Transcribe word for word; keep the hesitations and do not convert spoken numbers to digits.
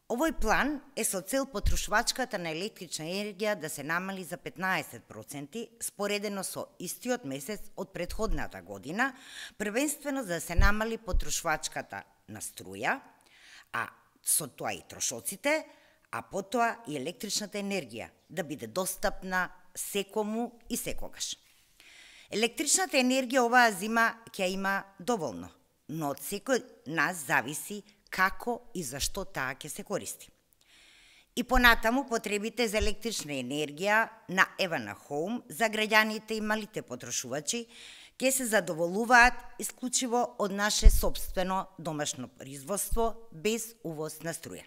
Овој план е со цел потрошувачката на електрична енергија да се намали за петнаесет проценти споредено со истиот месец од претходната година, првенствено за да се намали потрошувачката на струја, а со тоа и трошоците, а потоа и електричната енергија да биде достапна секому и секогаш. Електричната енергија оваа зима ќе има доволно, но од секој нас зависи како и зашто таа ќе се користи. И понатаму потребите за електрична енергија на Евана Хоум за граѓаните и малите потрошувачи ќе се задоволуваат исклучиво од наше сопствено домашно производство без увоз на струја.